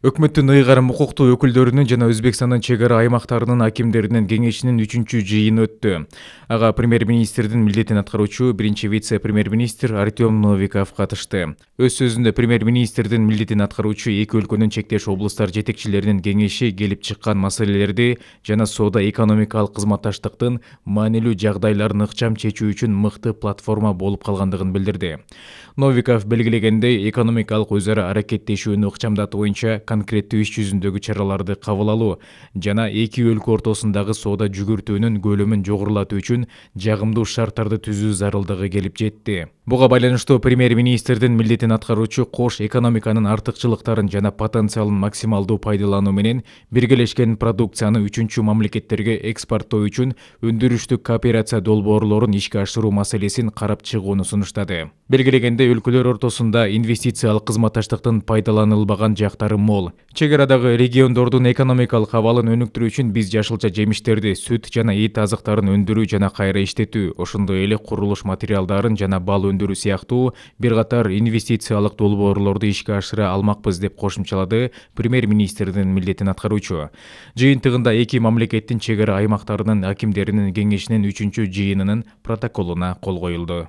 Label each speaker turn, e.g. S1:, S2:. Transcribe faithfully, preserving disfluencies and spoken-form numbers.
S1: Өкмөттүн ыйгарым укуктуу өкүлдөрүнүн жана Өзбекстандын чек ара аймактарынын акимдеринин кеңешинин үчүнчү жыйыны өттү. Ага премьер-министрдин милдетин аткаруучу биринчи вице-премьер-министр Артем Новиков катышты. Өз сөзүндө премьер-министрдин милдетин аткаруучу эки өлкөнүн чектеш облустар жетекчилеринин кеңеши келип чыккан маселелерди жана соода-экономикалык кызматташтыктын маанилүү жагдайларын ыкчам чечүү үчүн мыкты платформа болуп калгандыгын билдирди. Новиков белгилегендей, экономикалык өз ара аракеттешүүнү ыкчамдатуу боюнча конкреттүү иш жүзүндөгү чараларды кабыл алуу жана эки өлкө ортосундагы соода жүгүртүүнүн көлөмүн жогорулатуу үчүн жагымдуу шарттарды түзүү зарылдыгы келип жетти. Буга байланыштуу премьер-министрдин милдетин аткаруучу кош экономиканын артыкчылыктарын жана потенциалын максималдуу пайдалануу менен биргелешкен продукцияны үчүнчү мамлекеттерге экспорттоо үчүн өндүрүштүк кооперация долбоорлорун ишке ашыруу маселесин карап чыгууну сунуштады. Белгилегендей, өлкөлөр ортосунда инвестициялык кызматташтыктын пайдаланылбаган жактары мол. Чек арадагы региондордун экономикалык абалын өнүктүрүү үчүн биз жашылча жемиштерди, сүт жана эт азыктарын өндүрүү жана кайра иштетүү, ошондой эле курулуш материалдарын жана бал өндүрүү сыяктуу бир катар инвестициялык долбоорлорду ишке ашыра алмакпыз деп кошумчалады премьер-министрдин милдетин аткаруучу. Жыйынтыгында эки мамлекеттин чек ара аймактарынын акимдеринин кеңешинин үчүнчү жыйынынын протоколуна кол коюлду.